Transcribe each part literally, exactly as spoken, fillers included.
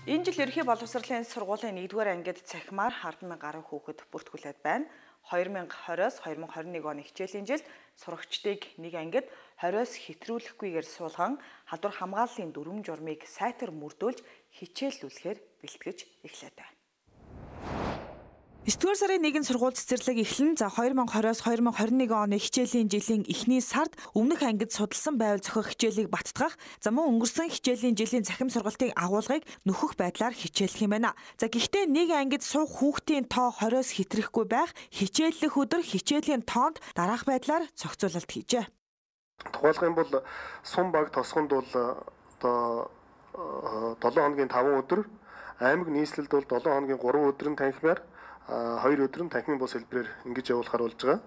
Энэ жил ерөнхий боловсролын сургуулийн нэгдүгээр ангид цахимаар хардсан мянган гаруй хүүхэд бүртгүүлээд байна. хоёр мянга двадцать хоёр мянга двадцать нэг оны хичээлийн жилд сурагчдыг нэг ангид хориос хэтрүүлэхгүйгээр суулган халдвар хамгааллын дүрм журмыг сайтар мөрдүүлж хичээллүүлэхээр бэлтгэж эхлэв. Есдүгээр сарын нэгэн сургууль цэцэрлэг эхлэн за хоёр мянга двадцать хоёр мянга двадцать нэг оны хичээлийн жилийн эхний сард өмнөх ангид судалсан байвал зохиох хичээлийг баттгах, за мөн өнгөрсөн хичээлийн жилийн цахим сургалтын агуулгыг нөхөх байдлаар хичээллэх юм байна. За гэхдээ нэг ангид суух хүүхдийн тоо хориос хэтрэхгүй байх, хичээллэх өдөр хичээлийн тоонд дараах байдлаар зохицуулалт хийжээ. Тухайлх юм бол сум баг тосгонд бол одоо долоон хоногийн таван өдөр, аймаг нийслэлд бол долоон хоногийн гурван өдөр нь танхимаар хоёр өдөр нь танхимын бус хэлбэрээр ингэж явуулахар болж байгаа.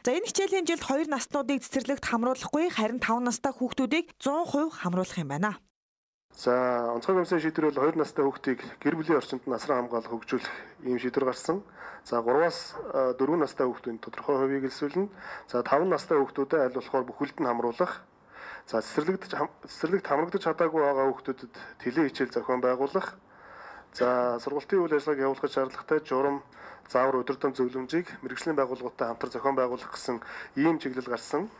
За энэ хичээлийн жилд хоёр наснуудыг цэцэрлэгт хамруулахгүй, харин таван настай хүүхдүүдийг зуун хувь хамруулах юм байна. За онцгой комиссийн шийдвэр бол хоёр настай хүүхдийг гэр бүлийн орчинд насран хамгаалах хөгжүүлэх ийм шийдвэр гарсан. За гураваас дөрвөн настай хүүхдийн тодорхой хувийг элсүүлнэ. За таван настай хүүхдүүдэд аль болохоор бүхэлд нь хамруулах. За цэцэрлэгт цэцэрлэгт хамрагдаж чадаагүй байгаа хүүхдүүдэд тэлээ хичээл зохион байгуулах. За сургалтын үйл ажиллагааг явуулахад шаардлагатай журам, заавар өдөртөм зөвлөмжийг мэргэжлийн байгууллагуудтай хамтар зохион байгуулах гэсэн ийм чиглэл гарсан.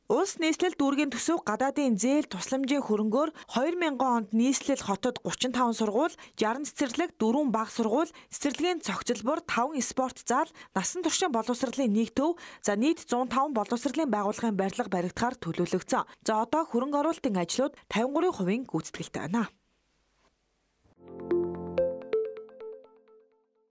Улс нийслэл дүүргийн төсөв гадаадын зээл тусламжийн хөрөнгөөр хоёр мянган онд нийслэл хотод гучин таван сургууль, шаран цэцэрлэг, дөрвөн бага сургууль, цэцэрлэгийн цогцлбор, таван спорт зал, насан туршийн боловсролын нэг төв, за нийт зуун таван боловсролын байгууллагын барилга баригдахаар төлөвлөгдсөн. За одоо хөрөнгө оруулалтын ажлууд тавин гурван хувийн гүйцэтгэлтэй байна.